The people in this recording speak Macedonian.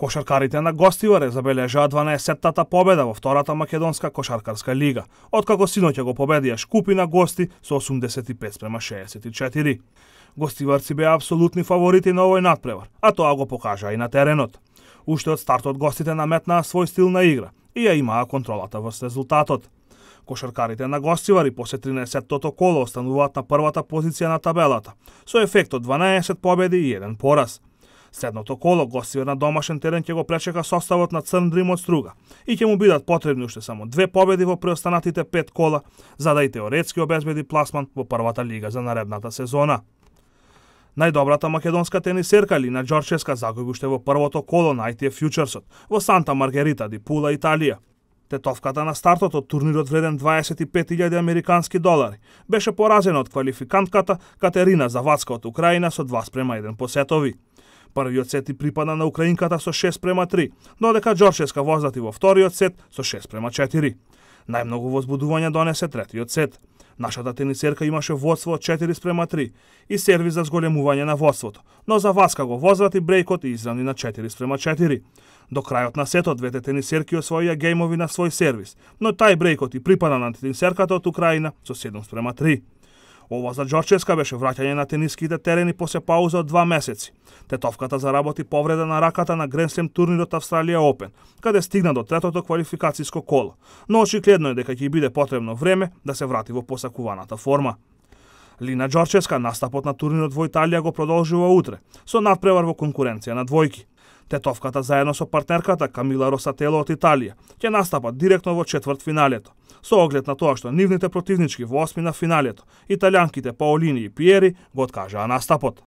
Кошаркарите на Гостивар забележаа 12-тата победа во втората македонска кошаркарска лига, откако синоќа го победија Шкупи на гости со 85-64. Гостиварци беа апсолутни фаворити на овој натпревар, а тоа го покажаа и на теренот. Уште од стартот гостите наметнаа свој стил на игра и ја имаа контролата врз резултатот. Кошаркарите на Гостивар и после 13-тото коло остануваат на првата позиција на табелата, со ефект од 12 победи и 1 пораз. Следното коло Гостивар на домашен терен ќе го пречека составот на Црн Дрим од Струга и ќе му бидат потребни уште само 2 победи во преостанатите 5 кола, за да и теоретски обезбеди пласман во првата лига за наредната сезона. Најдобрата македонска тенисерка Лина Ѓорчевска загуби уште во првото коло на ITF Фјучерсот во Санта Маргарита ди Пула, Италија. Тетовката на стартот од турнирот вреден 25.000 американски долари беше поразена од квалификантката Катерина Завадска од Украина со 2:1 по сетови. Првиот сет и припадна на украинката со 6:3, додека Ѓорчевска возврати во вториот сет со 6:4. Најмногу возбудување донесе третиот сет. Нашата тенисерка имаше водство од 4:3 и сервис за зголемување на водството, но Завадска го возврати брејкот и изравни на 4:4. До крајот на сетот двете тенисерки освоија гејмови на свој сервис, но тај брејкот и припадна на тенисерката од Украина со 7:3. Ова за Ѓорчевска беше враќање на тениските терени после пауза од 2 месеци. Тетовката заработи повреда на раката на Гренслем турнирот Австралија Опен, каде стигна до третото квалификациско коло, но очигледно е дека ќе биде потребно време да се врати во посакуваната форма. Лина Ѓорчевска настапот на турнирот во Италија го продолжува утре, со надпревар во конкуренција на двојки. Тетовката заедно со партнерката Камила Росатело од Италија ќе настапат директно во четвртфиналето, со оглед на тоа што нивните противнички во осмина финалето, италијанките Паолини и Пиери, го откажаа настапот.